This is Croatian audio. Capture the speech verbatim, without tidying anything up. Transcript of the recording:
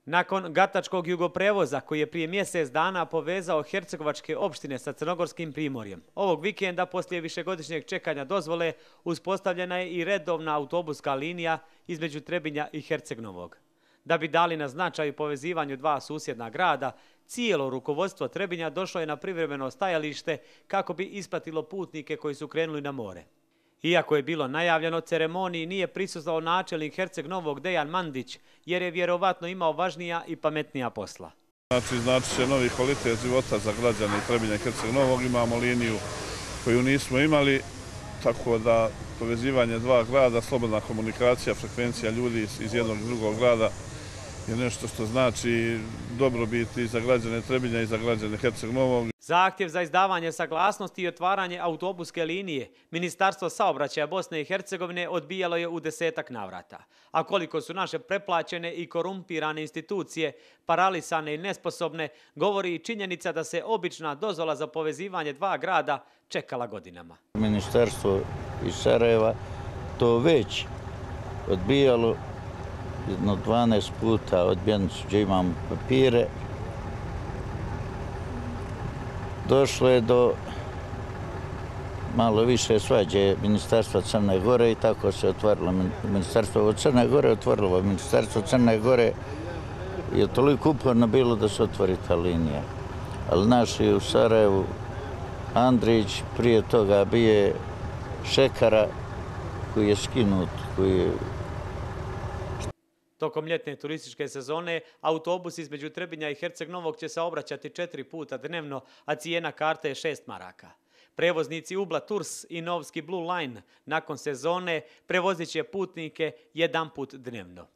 Nakon gatačkog jugoprevoza koji je prije mjesec dana povezao hercegovačke opštine sa crnogorskim primorjem, ovog vikenda poslije višegodišnjeg čekanja dozvole uspostavljena je i redovna autobuska linija između Trebinja i Herceg-Novog. Da bi dali na značaju povezivanju dva susjedna grada, cijelo rukovodstvo Trebinja došlo je na privremeno stajalište kako bi ispratilo putnike koji su krenuli na more. Iako je bilo najavljeno, ceremoniji nije prisustvovao načelnik Herceg-Novog Dejan Mandić, jer je vjerovatno imao važnija i pametnija posla. Znači, znači će novi kvalitet života za građane Trebinja i Herceg-Novog. Imamo liniju koju nismo imali, tako da povezivanje dva grada, slobodna komunikacija, frekvencija ljudi iz jednog i drugog grada je nešto što znači dobrobit i za građane Trebinja i za građane Herceg-Novog. Zahtjev za izdavanje saglasnosti i otvaranje autobuske linije Ministarstvo saobraćaja Bosne i Hercegovine odbijalo je u desetak navrata. A koliko su naše preplaćene i korumpirane institucije paralisane i nesposobne, govori i činjenica da se obična dozvola za povezivanje dva grada čekala godinama. Ministarstvo iz Sarajeva to već odbijalo jedno dvanaest puta, odbijeni su gdje imamo papire. Došlo je do malo više svađe Ministarstva Crne Gore i tako se otvorilo Ministarstvo od Crne Gore, otvorilo Ministarstvo Crne Gore je toliko uporno bilo da se otvori ta linija. Ali naši u Sarajevu, Andrić, prije toga bio Šekara koji je skinut, koji je... Tokom ljetne turističke sezone autobus između Trebinja i Herceg-Novog će se obraćati četiri puta dnevno, a cijena karte je šest maraka. Prevoznici Ubla Tours i Novski Blue Line nakon sezone prevozit će putnike jedan put dnevno.